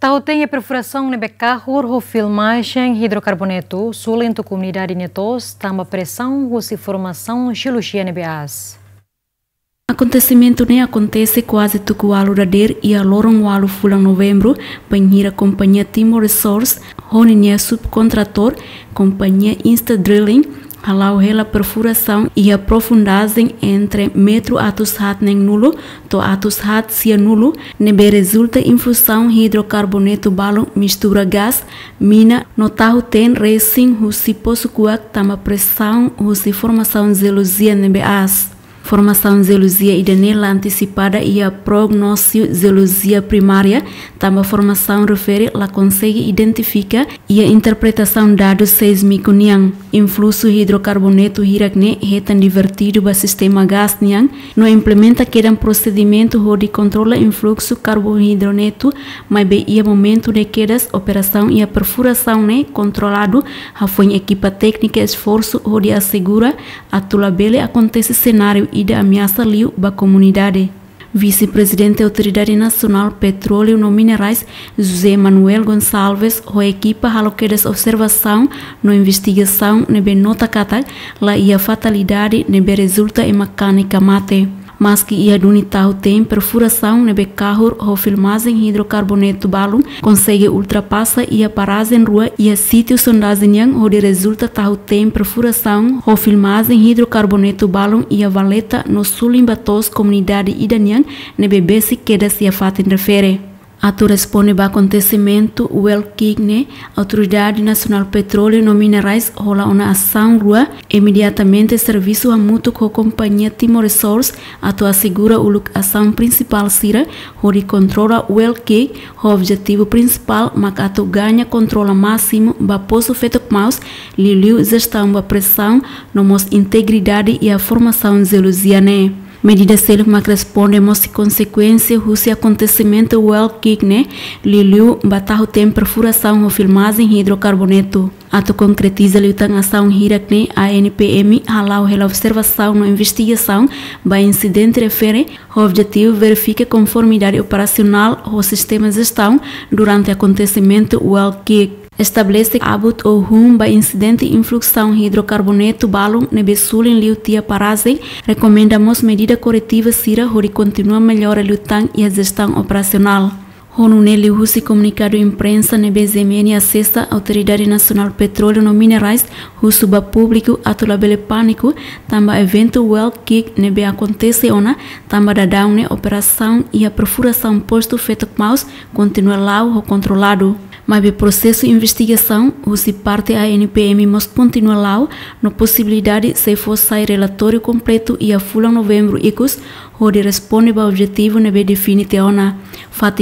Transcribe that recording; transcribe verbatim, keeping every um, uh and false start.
Tahun-teen perfurasaun ne'ebé kahur ho filmajen hidrokarbonetu, sulin tuku komunidade nia to'os, tanba presaun husi formasaun jeolojia ne'ebé aas. Akontesimentu ne'e akontese kuaze tuku ualu dadeer iha loron ualu fulan Novembru, bainhira kompañia Timor Resource ho ninia subkontratór, kompañia Insta Drilling, hala'o hela perfurasaun iha profundajen entre metru atus haat neen-nulu to'o atus haat sia-nulu, ne'ebé rezulta infuzaun hidrokarbonetu balun mistura gás, mina no tahun-teen resin husi posu kuak tanba presaun husi formasaun jeolojia ne'ebé aas. Formasaun jeolojia ida-ne'e la antesipada iha prognóstiku jeolojia primária, tanba formasaun refere la konsege identifika iha interpretasaun dadus seísmiku nian. Influxu hidrokarbonetu hirak-ne'e hetan divertidu ba sistema gás nian, no implementa kedan prosedimentu hodi kontrola influxu karbohidronetu, maibé iha momentu ne'e kedas operasaun iha perfurasaun ne'e kontroladu, hafoin ekipa téknika esforsu hodi asegura atu labele akontese senáriu ida ameasa liu ba komunidade. Vise-Prezidente Autoridade Nasionál Petróleu no Minerais, José Manuel Gonçalves, ho ekipa halo kedas observasaun no investigasaun ne'ebé nota katak la iha fatalidade ne'ebé rezulta ema kanek ka mate. Maski iha duni tahun-teen perfurasaun ne'ebé kahur ho filmajen hidrokarbonetu balun konsege ultrapasa iha parajen rua iha sítiu sondajen nian hodi rezulta tahun-teen perfurasaun ho filmajen hidrokarbonetu balun iha valeta no sulin ba to'os komunidade ida nian ne'ebé besik kedas iha fatin refere. Atu responde ba akontesimentu well kick ne'e, Autoridade Nasionál Petróleu no Minerais hola ona asaun rua. Imediatamente servisu hamutuk ho kompañia Timor Resource atu asegura uluk asaun prinsipál sira hodi kontrola well kick, ho objetivu prinsipál mak atu gaña kontrola másimu ba posu feto kmaus, liuliu jestaun ba presaun no mós integridade iha formasaun jeolojia ne'e. Medida seluk mak responde mós konsekuénsia husi akontesimentu well kick ne'e, liuliu ba tahun-teen perfurasaun ho filmajen hidrokarbonetu. Atu konkretiza liután asaun hirak-ne'e, ANPM hala'o hela observasaun no investigasaun ba insidente refere, ho objetivu verifika konformidade operasionál ho sistema jestaun durante akontesimentu well kick. Estabelese abut ohun ba insidente influzaun hidrokarbonetu balun ne'ebé sulin liu tiha parajen, rekomenda mós medida koretiva sira hodi kontinua mellora liután iha jestaun operasionál. Ho nune'e liuhusi komunikadu imprensa ne'ebé GMN asesa, Autoridade Nasionál Petróleu no Minerais husu ba públiku atu labele pániku, tanba eventu well kick ne'ebé akontese ona, tanba daudaun ne'e operasaun iha perfurasaun postu feto kmaus kontinua la'o ho kontroladu. Maibé prosesu investigasaun husi parte ANPM mós kontinua la'o, no posibilidade sei fó sai relatóriu kompletu iha fulan Novembru ikus, hodi responde ba objetivu ne'ebé define tiha ona. Fatin